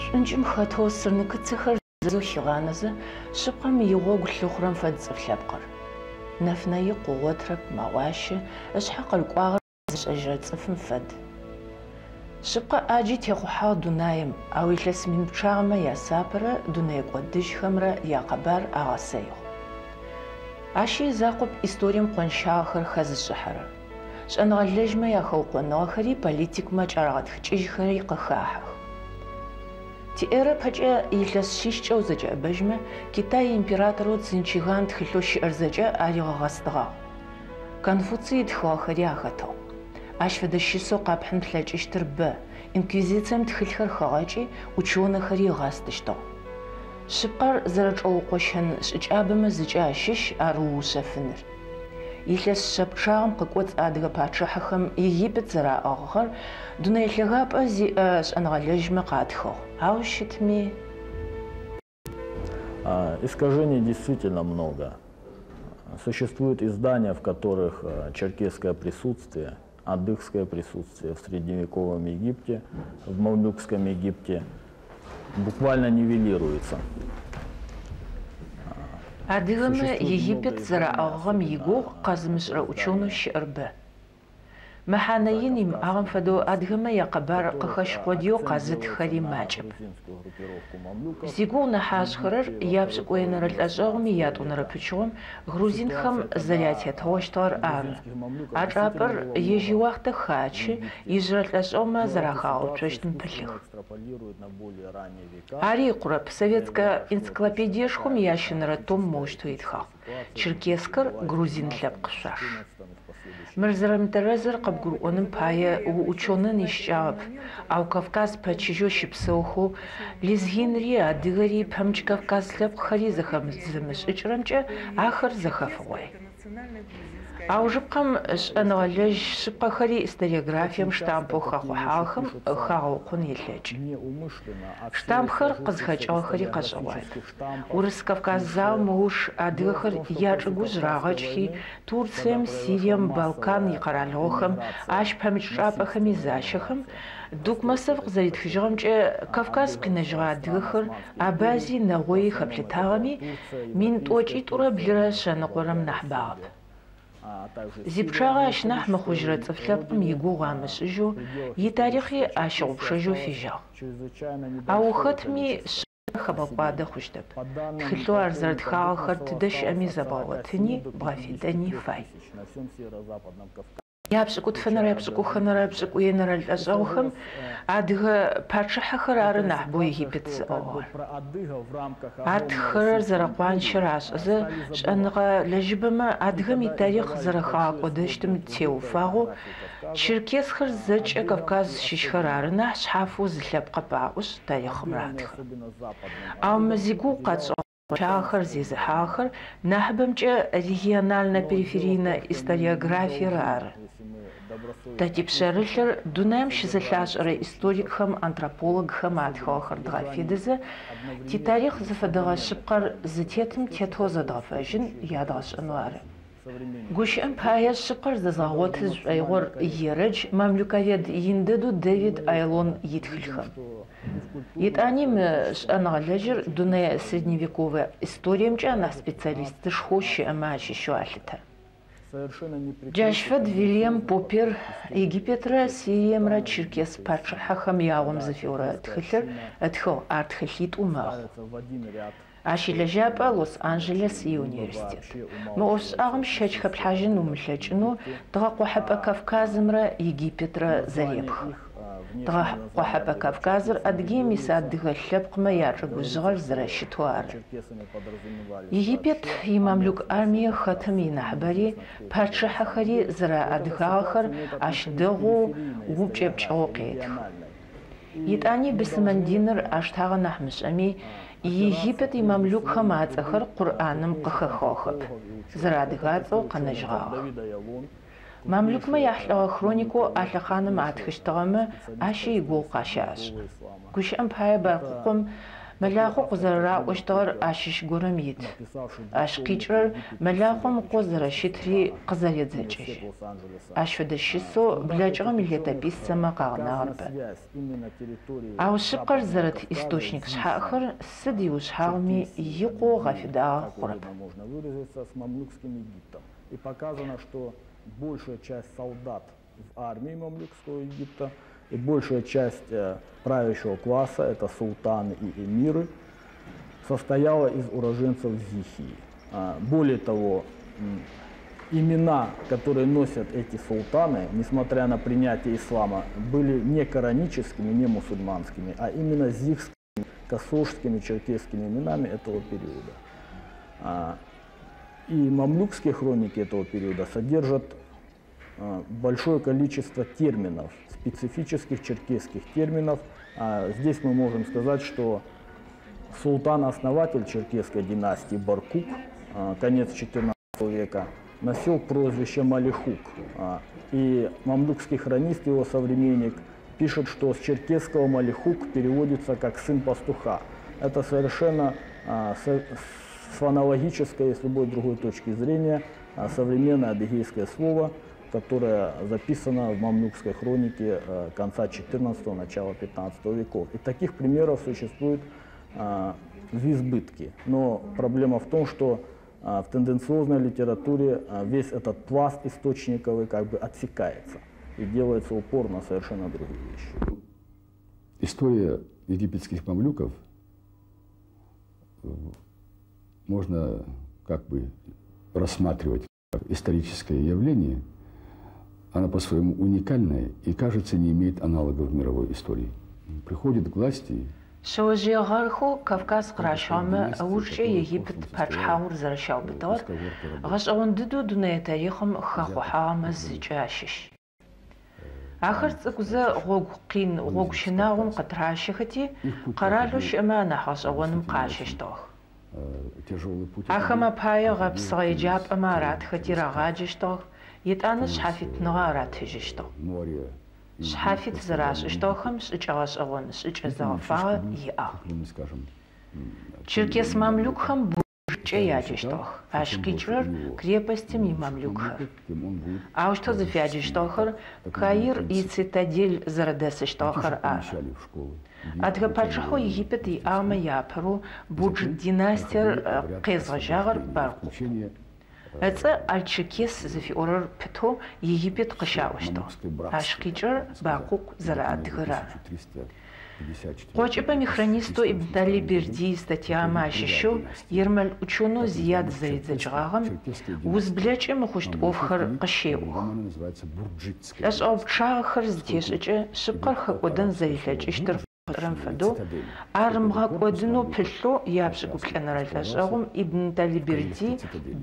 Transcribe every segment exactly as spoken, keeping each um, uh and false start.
Шӏункӏым хэтэу сырныкыцэхэр зэу хигъанэзэ, шъыпкъэм игъогу лъыхъурэм фэд цӏыф лъэпкъыр. Нэфынэ икъу ыгъотырэп, мэгъуащэ, ышъхьэ къырыкӏуагъэр зышӏэжьырэ цӏыфым фэд. Шъыпкъэ ӏаджи техъухьагъ дунаим, ау илъэс мин пчъагъэмэ ясапэрэ дунэе кӏодыжьхэмрэ якъэбар агъэсэигъ. Ащи изакъоп историем къонщагъэхэр хэзышӏыхьэрэр. Шӏэныгъэлэжьмэ яхэукъоныгъэхэри политикмэ кӏарагъэтхыкӏыжьхэри къыхахьэх. Тиэрэ пэкӏэ илъэс шъищкӏэ узэкӏэӏэбэжьмэ, Китай императорэу Цинчиган тхылъэу щыӏэр зэкӏэ аригъэгъэстыгъагъ. Конфуций ытхыгъэхэри ахэтыгъ. Ащ фэдэ щысэу къэпхьын плъэкӏыщтыр бэ, инквизицием тхылъхэр хэгъэкӏи, ученыхэри ыгъэстыщтыгъ. Шъыпкъэр зэрэчӏэукъощэн шӏыкӏабэмэ зыкӏэ ащыщ ар уушъэфыныр. Илъэс шъэ пчъагъэм къыкӏоцӏ адыгэ пачъыхьэхэм Египет зэраӏыгъыгъэр дунэе лъэгапӏэ зиӏэ шӏэныгъэлэжьмэ къатхыгъ, ау щытми. Искажений действительно много. Существуют издания, в которых черкесское присутствие, адыгское присутствие в средневековом Египте, в мамлюкском Египте буквально нивелируется. Адыгэмэ Египет зэраӏыгъыгъэм игугъу къэзымышӏырэ ученый щыӏэр бэ. Мэхьанэ ин имыӏагъэм фэдэу адыгэмэ якъэбар къыхэщ къодыеу къэзытхэри макӏэп. Зигугъу нахь ашӏхэрэр япшӏыкӏуенэрэ лӏэшӏэгъум иятӏонэрэ пычыгъом грузинхэм зэрятетыгъощтыгъэр ары. А чӏапӏэр ежь иуахътэ хачы, ижъырэ лӏэшӏэгъумэ зэрахагъэуцощтым пылъых. Ари икъурэп, советскэ энциклопедиешхом иящэнэрэ том моущтэу итхагъ: Черкескэр грузин лъэпкъ шъуаш. Мыр зэрэмытэрэзыр къыбгурыӏоным пае уученэн ищыкӏагъэп, ау Кавказ пэчыжьэу щыпсэухэу лезгинри, адыгэри, пэмыкӏ Кавказ лъэпкъхэри зэхэмызымышӏыкӏырэмкӏэ ахэр зэхэфыгъуай. Аужыпкъэм шӏэныгъэлэжь шъыпкъэхэри историографием штампэу хэхъухьагъэхэм хагъэукъон елъэкӏы. Штампхэр къызхэкӏыгъэхэри къэшӏэгъуаеп. Урыс-Кавказ заом ыуж адыгэхэр ячӏыгужъ рагъэкӏхи, Турцием, Сирием, Балкан икъэралыгъохэм, ащ пэмыкӏ чӏапӏэхэми защэхэм, Дукмасов къызэритхыжьыгъэмкӏэ Кавказ къинэжьыгъэ адыгэхэр Абази, Нэгъои хэплъытагъэми мин тӏокӏитӏурэ блырэ шъэныкъорэм нахь багъэп. Зипчъагъэ ащ нахь мыхъужьырэ цӏыф лъэпкъым игугъу амышӏыжьэу, итарихъи ащыгъупшэжьэу фежьагъ. Ау хэтми шъэ хэбгъэкӏуадэ хъущтэп. Тхылъэу ар зэрэтхагъэхэр тыдэ щыӏэми зэбгъэгъотыни, бгъэфедэни фай. Япшӏыкӏутфэнэрэ япшӏыкӏухэнэрэ пшӏыкӏуенэрэ лӏэшӏэгъухэм адыгэ пачъыхьэхэр ары нахьыбэу Египет зыӏыгъыгъэр. Атхырэр зэрэкъуанчэр ашӏэзэ, шӏэныгъэ лэжьыбэмэ адыгэм итарихъ зэрэхагъэкӏодэщтым теуфагъэу черкесхэр зэкӏэ Кавказ щыщхэр ары нахь шъхьафэу зы лъэпкъэп аӏошъ тарихъым ратхы. Ау мы зигугъу къэтшӏыгъэ пчъагъэхэр зезыхьагъэхэр нахьыбэмкӏэ региональнэ периферийнэ историографиер ары. Тэ типшъэрылъыр дунаим щызэлъашӏэрэ историкхэм, антропологхэм атхыгъэхэр дгъэфедэзэ, титарихъ зыфэдэгъэ шъыпкъэр зытетым тетэу зэдгъэфэжьын ядгъэшӏэнэу ары. Гущыӏэм пае шъыпкъэр зэзгъэгъоты зышӏоигъор ерэдж мамлюковед ин дэдэу Дэвид Айлон итхылъхэм. Етӏани мы шӏэныгъэлэжьыр дунэе средневековэ историемкӏэ анахь специалистышхоу щыӏэмэ ащыщэу алъытэ. Джащ фэд Вильям Поппер Египетрэ Сириемрэ черкес пачъыхьэхэм ягъом зыфиӏорэ тхылъыр ытхыгъ, ар тхылъитӏу мэхъу. Ащ илэжьапӏэ Лос-Анджелес иуниверситет. Мы ӏофшӏагъэм щэч хэплъхьажьын умылъэкӏынэу Тыгъэкъохьэпӏэ Кавказымрэ Египетрэ зэрепхы. Тыгъэкъохьэпӏэ Кавказыр Адыгеим ис адыгэ лъэпкъмэ ячӏыгужъыгъэр зэрэщытэу ары. Египет имамлюк армие хэтым инахьыбэри, пачъыхьэхэри зэрэадыгагъэхэр ащ дэгъоу упкӏэпкӏыгъэу къетхы. Етӏани быслъымэн диныр аштагъэ нахь мышӏэми, Египет имамлюкхэм ацӏэхэр Къурӏаным къыхэхыгъэхэп, зэрэадыгацӏэу къэнэжьыгъагъэх. Мамлюкмэ яхьылӏэгъэ хроникэу а лъэхъаным атхыщтыгъэмэ ащи игугъу къащашӏы. Гущыӏэм пае Баркъукъум Мэлахъо къызэрэраӏощтыгъэр ащыщ горэм ит. Ащ къикӏырэр мэлахъом ыкъо зэрэщытри къызэредзэкӏыжьы. Ащ фэдэ щысэу блэкӏыгъэм илетописцэмэ къагъэнагъэр бэ. Ау шъыпкъэр зэрыт источник шъхьаӏэхэр сыд иушъхьагъуми икъоу гъэфедагъэ хъурэп. Можно выразиться, с мамлюкским Египтом. И показано, что большая часть солдат в армии мамлюкского Египта и большая часть э, правящего класса, это султаны и эмиры, состояла из уроженцев Зихии. А, Более того, м, имена, которые носят эти султаны, несмотря на принятие ислама, были не кораническими, не мусульманскими, а именно зихскими, касожскими, черкесскими именами этого периода. А, И мамлюкские хроники этого периода содержат а, большое количество терминов, специфических черкесских терминов. А, Здесь мы можем сказать, что султан-основатель черкесской династии Баркук, а, конец четырнадцатого века, носил прозвище Малихук. А, И мамлюкский хронист, его современник, пишет, что с черкесского Малихук переводится как «сын пастуха». Это совершенно а, со- с фонологической и с любой другой точки зрения а, современное адыгейское слово, которое записано в мамлюкской хронике э, конца четырнадцатого, начала пятнадцатого веков. И таких примеров существует а, в избытке. Но проблема в том, что а, в тенденциозной литературе а, весь этот пласт источниковый как бы отсекается и делается упор на совершенно другие вещи. История египетских мамлюков э, можно как бы рассматривать как историческое явление. Она по-своему уникальная и, кажется, не имеет аналогов в мировой истории. Приходит к власти Шъэожъые гъэрхэу Кавказ къыращыгъэмэ ыужкӏэ Египет пачъыхьагъур зэрэщаубытыгъэр гъэшӏэгъон дэдэу дунэе тарихъым хэхъухьагъэмэ зыкӏэ ащыщ. Ахэр цӏыкӏузэ гъогу къин гъогу щынагъом къытыращэхэти, къэралэу щыӏэмэ анахь гъэшӏэгъоным къащэщтыгъэх. Тяжелый путь. Ахэм апае гъэпсыгъэ еджапӏэмэ аратхэти рагъаджэщтыгъэх, етӏанэ шъхьафитныгъэ аратыжьыщтыгъ. Море. Шъхьафит зэрашӏыщтыгъэхэм шӏыкӏэ гъэшӏэгъон шӏыкӏэ зэгъэфагъэ иӏагъ. Скажем, Черкес мамлюкхэм бурджкӏэ яджэщтыгъэх. Ащ къикӏырэр крепостым имамлюкхэр. Тем он будет Аущтэу зыфяджэщтыгъэхэр Каир ицитадель зэрэдэсыщтыгъэхэр ары. Помещали в школы. Адыгэ пачъыхьэу Египет иӏагъэмэ яапэрэу Бурджит династиер э, къезгъэжьагъэр Баркъукъу. Включение Ыцӏэ Аль-Черкес зыфиӏорэр пытэу Египет къыщаӏощтыгъ. Ащ къикӏырэр Баркъукъу зэрэадыгэр ары. Къокӏыпӏэм ихронистэу Ибн Талиберди истатьямэ ащыщэу ермэл ученэу Зияд зэридзэкӏыгъагъэм узблэкӏы мыхъущт ӏофхэр къыщеӏох. Она называется Бурджитская. Лӏэшӏэгъу пчъагъэхэр зытешӏыкӏэ шъыпкъэр хэкӏодэн зэрилъэкӏыщтыр къышӏэрэм фэдэу ар ымыгъэкӏодынэу пылъэу япшӏыкӏуплӏэнэрэ лӏэшӏэгъум Ибн Талиберди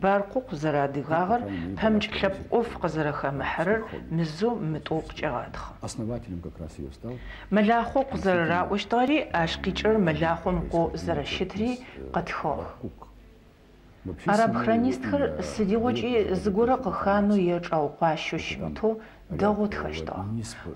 Баркъукъу зэрэадыгагъэр пэмыкӏ лъэпкъ ӏоф къызэрэхэмыхьэрэр мызэу мытӏоу къыкӏегъэтхъы. Основателем как раз ее стал Мэлахъо къызэрэраӏощтыгъэри ащ къикӏырэр мэлахъом ыкъо зэрэщытри къытхыгъэх. Баркук. Вообще, Араб самое хронистхэр имя сыдигъокӏи зыгорэ къыханэу е чӏаукъуащэу щымытэу дэгъоу тхэщтыгъэ.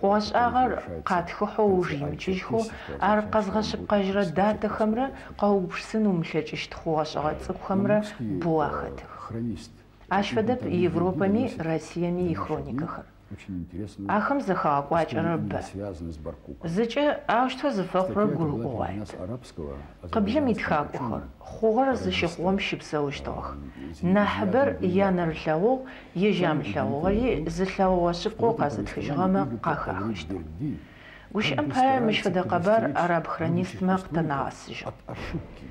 Хъугъэ-шӏагъэр къатхыхьэу ыуж имыкӏыжьхэу ар къэзгъэшъыпкъэжьырэ датэхэмрэ къэугупшысын умылъэкӏыщт хъугъэ-шӏэгъэ цӏыкӏухэмрэ мамлюкский, боу э, ахэтых. хронист. Ащ фэдэп Ибн Талиберди Европэми доносит Россиеми до наших ихроникэхэр. дней очень интересную Ахэм зэхагъэкӏуакӏэрэр историю, бэ. именно связанную с Баркуком. Зыкӏэ аущтэу зыфэхъурэр Статья эта была гурыӏогъуай. переведена с арабского Къыблэм азербайджанским итхакӏохэр ученым, хъугъэр зыщыхъугъэм щыпсэущтыгъэх. Нахьыбэр янэрылъэгъугъ, ежь ямылъэгъугъэри зылъэгъугъэ шъыпкъэу В этом къэзытхыжьыгъэмэ повествовании Ибн къахахыщтыгъ. Талиберди Гущыӏэм как бы пае мыщ старается фэдэ къэбар предостеречь араб будущих хронистмэ историков къытэнагъэсыжьыгъ. от ошибки.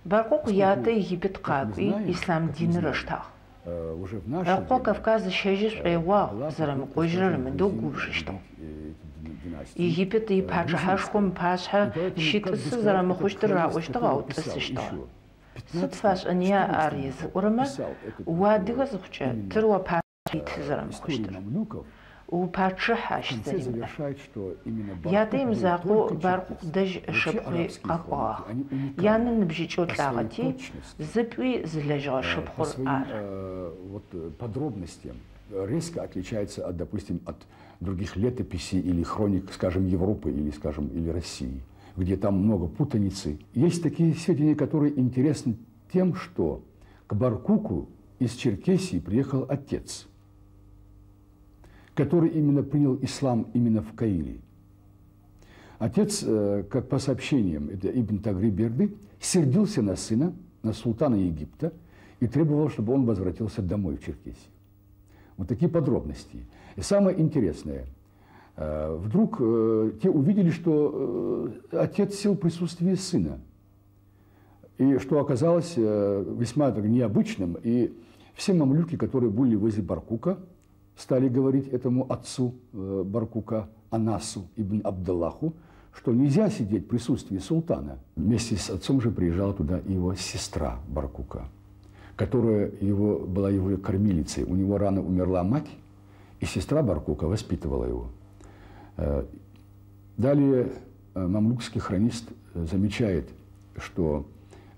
Баркъукъу ятэ Египет Как мы къакӏуи знаем, ислъам как мы диныр знаем, ыштагъ. э, уже в наше Ыкъо время, Кавказ ыщэжьы э, шӏоигъуагъ, была зэрэмыкӏожьырэр попытка, ымыдэу скажем, губжыщтыгъ. э, эти династии, Египет э, ипачъыхьэшхом грузинской. пашъхьэ И поэтому, как бы щытӏысы сказать, зэрэмыхъущтыр этот хронист, раӏощтыгъ, ау который писал тӏысыщтыгъэ. еще в Сыд пятнадцатом, фашӏэныя ар четырнадцатом езыӏорэмэ, писал этот, уадыгэ э, зыхъукӏэ именно, тыр уапашъхьэ ит э, историю зэрэмыхъущтыр. мамлюков, Упачъыхь ащ в конце зэримыӏэр. завершает, что именно Ятэ Баркук был имызакъоу только Баркъукъу черкес. дэжь Вообще ышыпхъуи арабские къэкӏуагъ. хроники, они уникальны Янэ ныбжьыкӏэу по своей лӏагъэти, точности, зыпӏуи зылэжьыгъэ э, по шыпхъур своим ары. э, вот, э, подробностям э, резко отличается от, допустим, от других летописей или хроник, скажем, Европы или, скажем, или России. где там много путаницы. Есть такие сведения, которые интересны тем, что к Баркуку из Черкесии приехал отец, который именно принял ислам именно в Каире. Отец, э, как по сообщениям, это Ибн Тагриберды, сердился на сына, на султана Египта, и требовал, чтобы он возвратился домой в Черкесию. Вот такие подробности. И самое интересное, э, вдруг э, те увидели, что отец сел в присутствии сына, и что оказалось весьма так необычным, и все мамлюки, которые были возле Баркука, стали говорить этому отцу Баркука, Анасу ибн Абдаллаху, что нельзя сидеть в присутствии султана. Вместе с отцом же приезжала туда и его сестра Баркука, которая его, была его кормилицей. У него рано умерла мать, и сестра Баркука воспитывала его. Далее мамлюкский хронист замечает, что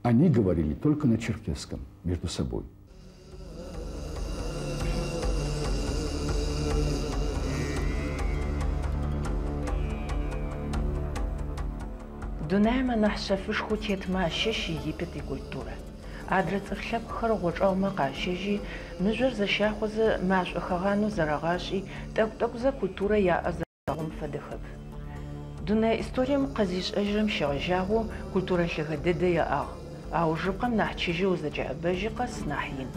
они говорили только на черкесском между собой. Дунаем анахь шъэфышхоу тетмэ ащыщ Египет икультурэ. Адрэ цӏыф лъэпкъхэр гъочӏэгъумэ къащэжьи, мыжъор зэщахъозэ машӏо хэгъанэу зэрагъашӏи, тӏэкӏу-тӏэкӏузэ культурэ яӏэ зэрагъом фэдэхэп. Дунэе историем къызишӏэжьырэм щегъэжьагъэу культурэ лъэгэ дэдэ яӏагъ, ау жыпкъэм нахь чыжьэу узэкӏэӏэбэжьи къэс нахь ин.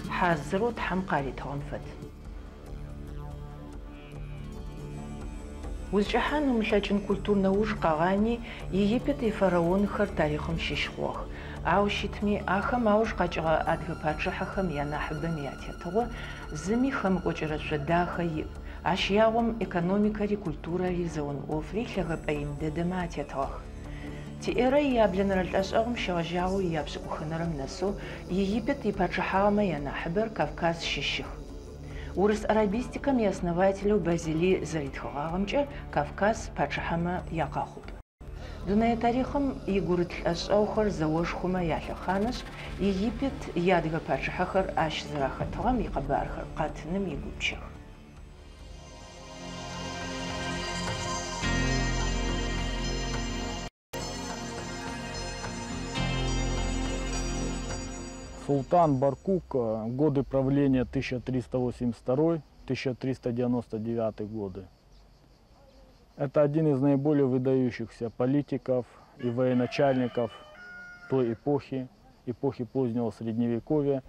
Хьазырэу Тхьэм къаритыгъэм фэд. Узкӏыхьан умылъэкӏын культурнэ уж къэгъани Египет ифараонхэр тарихъым щыщ хъугъэх. Ау щытми ахэм ауж къэкӏыгъэ адыгэ пачъыхьэхэм янахьыбэм ятетыгъо зыми хэмыкӏокӏэрэ шъо дахэ иӏ. Ащ ягъом экономикэри, культурэри, зэон ӏофри лъэгэпӏэ ин дэдэмэ атетыгъэх. Тиэрэ ияблэнэрэ лӏэшӏэгъум щегъэжьагъэу ияпшӏыкӏухынэрэм нэсэу Египет ипачъыхьагъэмэ янахьыбэр Кавказ щыщых. Урыс арабистикэм иоснователэу Базили зэритхыгъагъэмкӏэ Кавказ пачъыхьэмэ якъэхъупӏ. Дунэе тарихъым игурыт лӏэшӏэгъухэр зэошхомэ ялъэхъанышъ, Египет иадыгэ пачъыхьэхэр ащ зэрахэтыгъэм икъэбархэр къэтыным игупчэх. Султан Баркук, годы правления тысяча триста восемьдесят второй — тысяча триста девяносто девятый годы. Это один из наиболее выдающихся политиков и военачальников той эпохи, эпохи позднего Средневековья,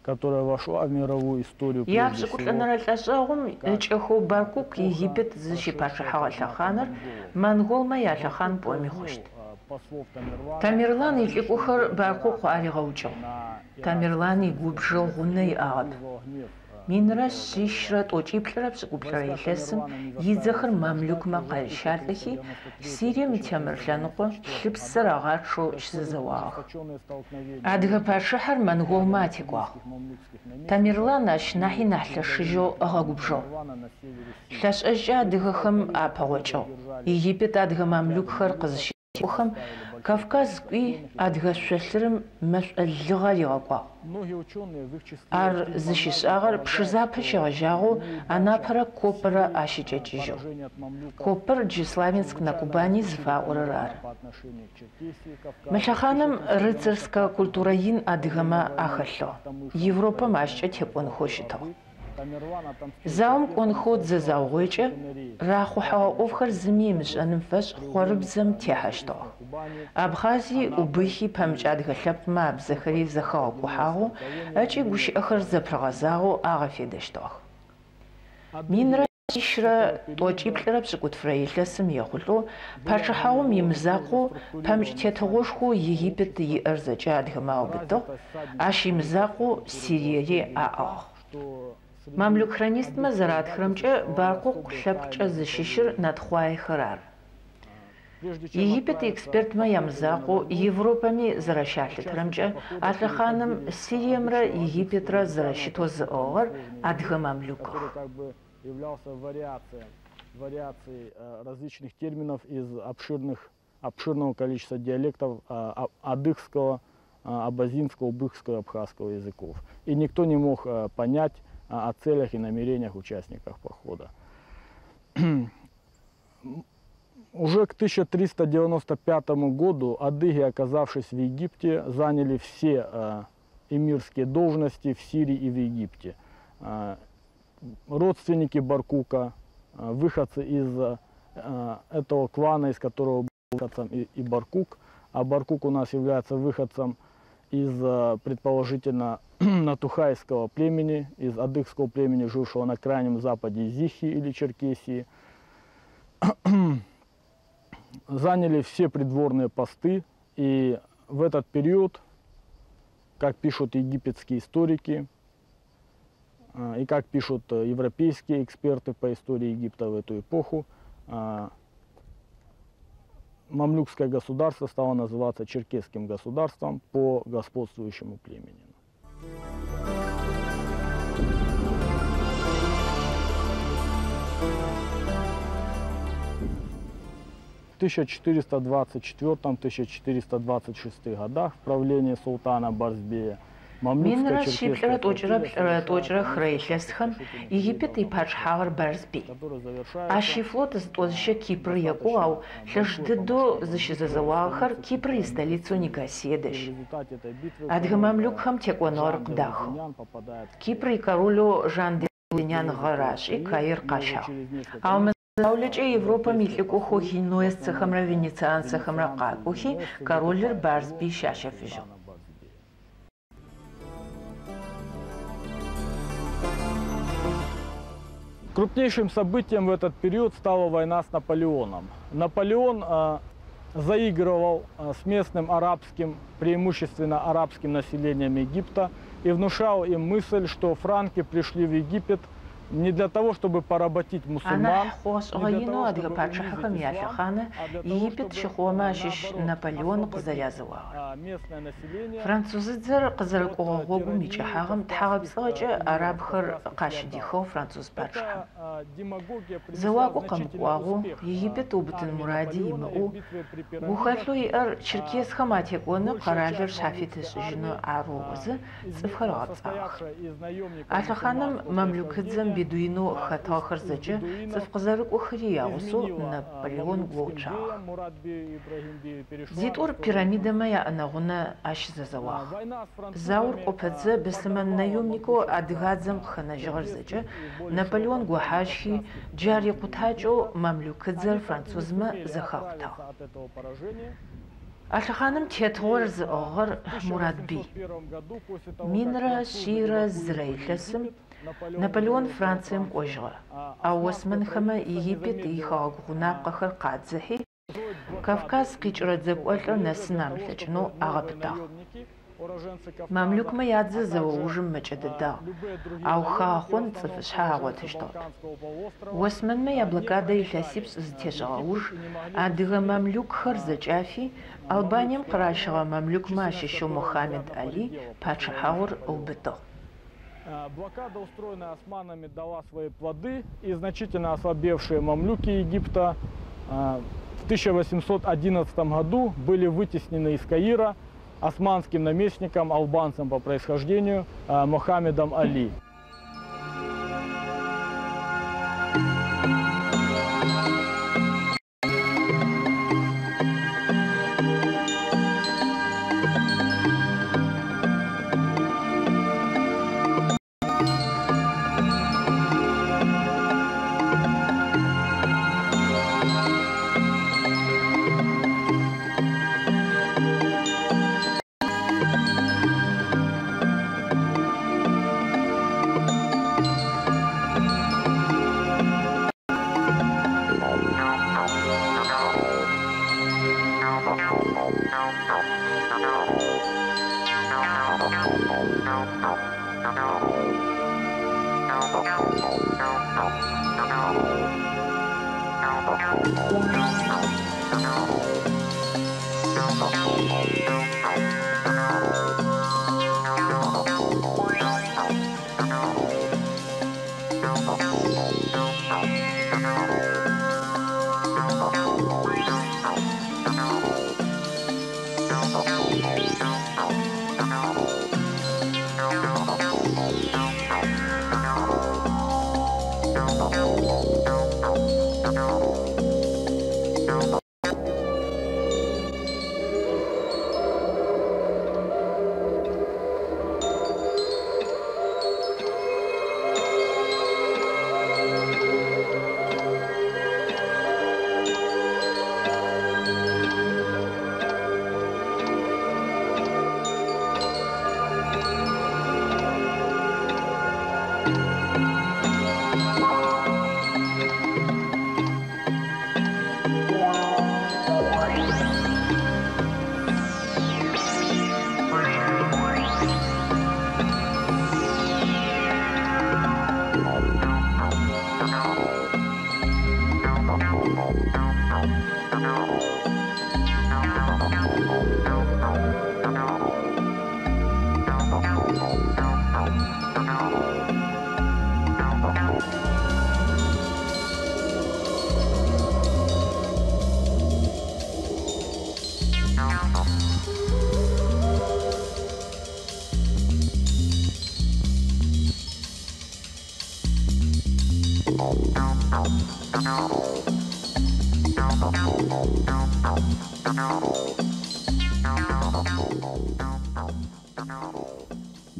которая вошла в мировую историю прежде всего. Япшӏыкӏуплӏэнэрэ лӏэшӏэгъум ыкӏэхэу Баркук Египет зыщипачъыхьэгъэ лъэхъаныр монголмэ ялъэхъан пӏоми хъущт. Тамерлан илӏыкӏохэр Баркъукъу аригъэукӏыгъ. Тамерлан игубжэ гъунэ иӏагъэп. Минрэ шъищрэ тӏокӏиплӏырэ пшӏыкӏуплӏырэ илъэсым идзэхэр мамлюкмэ къарищалӏэхи, Сирием итемыр лъэныкъо лъыпсыр агъачъэу щызэзэуагъэх. Адыгэ пачъыхьэр монголмэ атекӏуагъ. Тамерлан ащ нахьи нахь лъэшыжьэу ыгъэгубжыгъ. Лъэшӏэжькӏэ адыгэхэм апэгъокӏыгъ. Египет адыгэ мамлюкхэр къызыщекӏохэм Кавказ кӏуи адыгэ шъолъырым мэшӏо лыгъэ ригъэкӏуагъ. Ар зыщишӏагъэр Пшызапэ щегъэжьагъэу Анапэрэ Копэрэ ащыкӏэкӏыжьыгъ. Копэр джы Славянск на Кубани зыфаӏорэр ары. Мы лъэхъаным рыцарскэ культурэ ин адыгэмэ ахэлъыгъ. Европэм ащкӏэ текӏонхэу щытыгъ. Заом кӏонхэу дзэ заугъуекӏэ рахъухьэгъэ ӏофхэр зыми ымышӏэным фэшӏ хъорыбзэм техьэщтыгъэх. Абхъази, Убыхи, пэмыкӏ адыгэ лъэпкъмэ абзэхэри зэхэгъэкӏухьагъэу ыкӏи гущыӏэхэр зэпрыгъэзагъэу агъэфедэщтыгъэх. Минрэ шъищрэ тӏокӏиплӏырэ пшӏыкӏутфырэ илъэсым ехъулӏэу пачъыхьагъум имызакъоу пэмыкӏ тетыгъошхоу Египет иӏэр зэкӏэ адыгэмэ аубытыгъ, ащ имызакъоу Сириери аӏыгъ. Мамлюк хронистмэ зэратхырэмкӏэ Баркъукъу лъэпкъкӏэ зыщыщыр натхъуаехэр ары. Египет экспертмэ ямызакъоу Европэми зэрэщалъытырэмкӏэ а лъэхъаным Сириемрэ Египетрэ зэрэщытэу зыӏыгъыгъэр адыгэ мамлюкых. Вариации различных терминов из обширных, обширного количества диалектов адыгского, абазинского, убыхского и абхазского языков. И никто не мог понять о целях и намерениях участников похода. Уже к тысяча триста девяносто пятому году адыги, оказавшись в Египте, заняли все, э, эмирские должности в Сирии и в Египте. Э, родственники Баркука, э, выходцы из, э, этого клана, из которого был выходцем и, и Баркук, а Баркук у нас является выходцем из, э, предположительно, натухайского племени, из адыгского племени, жившего на крайнем западе Зихи или Черкесии. Заняли все придворные посты, и в этот период, как пишут египетские историки, э, и как пишут, э, европейские эксперты по истории Египта в эту эпоху, э, мамлюкское государство стало называться черкесским государством по господствующему племени. В тысяча четыреста двадцать четвёртом — тысяча четыреста двадцать шестых годах в правлении султана Барзбея Минрэ щиплӏырэ тӏокӏырэ плӏырэ тӏокӏырэ хырэ илъэсхэм Египет ипачъыхьагъэр Барзбей. Ащ ифлот зытӏозыщэ Кипр екӏугъ, ау лъэш дыдэу зыщызэзэуагъэхэр Кипр истолицэу Никосие дэжь. Адыгэ мамлюкхэм текӏоныгъэр къыдахыгъ. Кипр икоролэу Жан де Лунян гъэрашӏи Каир къащагъ. Ау мы заулэкӏэ Европэм илӏыкӏохэу генуэзцэхэмрэ венецианцэхэмрэ къакӏохи королыр Барзбей щащэфыжьыгъ. Крупнейшим событием в этот период стала война с Наполеоном. Наполеон, э, заигрывал, э, с местным арабским, преимущественно арабским населением Египта и внушал им мысль, что франки пришли в Египет не для того, чтобы поработить мусульман, Анахь хъугъэ-шӏыгъэ не для инэу того, адыгэ чтобы пачъыхьэхэм унизить ислам, ялъэхъанэ а для того, Египет чтобы, щыхъугъэмэ ащыщ наоборот, Наполеон освободить, къызэрязэуагъэр. а, местное население Французыдзэр къызэрыкӏогъэ от, э, гъогум тирании икӏыхьагъэм кавказских, тхьагъэпцӏыгъэкӏэ э, арабхэр кавказских къащыдихыгъ феодалов. француз Это, пачъыхьэм. а, демагогия принесла Зэуакӏо значительный къэмыкӏуагъэу, успех, а, Египет убытын армии муради Наполеона и в имыӏэу, битве при пирамидах, гухэлъэу иӏэр а, черкесхэм атекӏоны большая къэралыр часть шъхьафит мамлюкской ышӏыжьынэу армии, ар ыӏозэ, а, цӏыфхэр изме-, ыгъэпцӏагъэх. состоявшая из наемников А лъэхъаным мусульманского мамлюкыдзэм происхождения, бедуинэу а, хэтыгъэхэр из-, из зэкӏэ бедуинов цӏыф къызэрыкӏохэри ягъусэу изменила, а, Наполеон мамлюкским гоуцуагъэх. беям, Мурад-бею и Ибрагим-бею перешла на Зитӏур сторону пирамидэмэ французов. яӏэнэгъунэ ащ А, зэзэуагъ. война с Заур французами, кӏопэдзэ а, быслъымэн подорвала наемникэу могущество, адыгадзэм а, къыхэнэжьыгъэр зэкӏэ черкесских и более Наполеон широкого гохьажьхи, кавказских джар племен икъутакӏэу Египта. мамлюкыдзэр Они так и не французмэ сумели зэхакъутагъ. оправиться от этого поражения. А лъэхъаным тетыгъор И, а, зыӏыгъыгъэр в тысяча Мурад-бей. восемьсот первом году, после того, как Минрэ французы щирэ эвакуировали зырэ илъэсым Египет, Наполеон Наполеон вернулся во Францием Францию. кӏожьыгъэ. А Ау османское осмэнхэмэ правительство не Египет замедлило, ихэгъэгу а, гъунапкъэхэр къадзыхьи, строить блокаду Кавказ къикӏырэ египетского дзэкӏолӏыр побережья нэсын для того, амылъэкӏынэу чтобы новые агъэпытагъ. наемники, уроженцы Кавказа, Мамлюкмэ ядзэ а также, зэоужым мэкӏэ а, дэдагъ, любые другие ау наемники, в хахъон основном цӏыфышъхьэ уроженцы агъотыщтыгъэп. Балканского полуострова, Осмэнмэ а, не яблокадэ проникали, илъэсипшӏ а, в зытешӏэгъэ Египет уж и не могли адыгэ выступить, мамлюкхэр а, зэкӏафи а, Албанием мамлюкской къыращыгъэ армии, мамлюкмэ численность ащыщэу которой Мухаммед изрядно Али поредела после войны с пачъыхьагъур Наполеоном. ыубытыгъ. А, Блокада, устроенная османами, дала свои плоды, и значительно ослабевшие мамлюки Египта, а, в тысяча восемьсот одиннадцатом году были вытеснены из Каира османским наместником, албанцем по происхождению, а, Мохаммедом Али.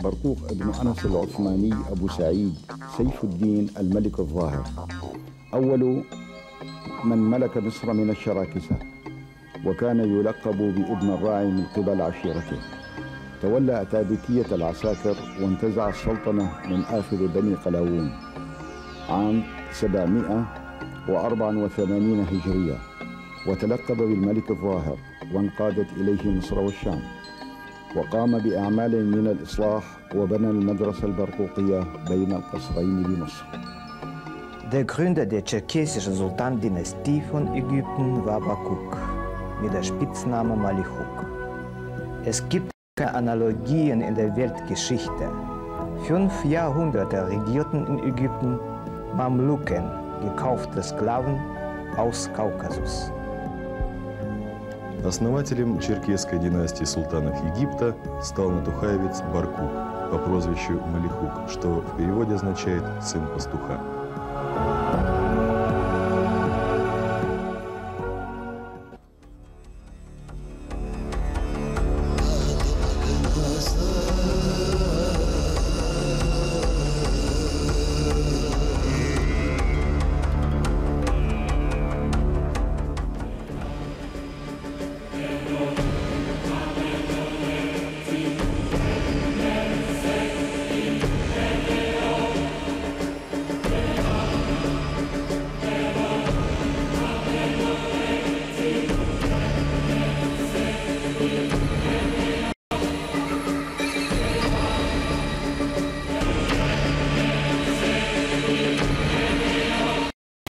برقوق ابن أنس العثماني أبو سعيد سيف الدين الملك الظاهر، أول من ملك مصر من الشراكسة، وكان يلقب بابن الراعي من قبل عشيرته. تولى أتابكية العساكر وانتزع السلطنة من آخر بني قلاوون عام سبعمائة وأربعة وثمانين هجرية، وتلقب بالملك الظاهر، وانقادت إليه مصر والشام، وقام بأعمال من الإصلاح وبنى المدرسة البرقوقية بين القصرين بمصر. Der Gründer der tscherkessischen Sultan-Dynastie von Ägypten war Barkuk mit der Spitzname Malichuk. Es gibt keine Analogien in der Weltgeschichte. Fünf Jahrhunderte regierten in Ägypten Mamluken, gekaufte Sklaven aus Kaukasus. Основателем черкесской династии султанов Египта стал натухаевец Баркук по прозвищу Малихук, что в переводе означает «сын пастуха».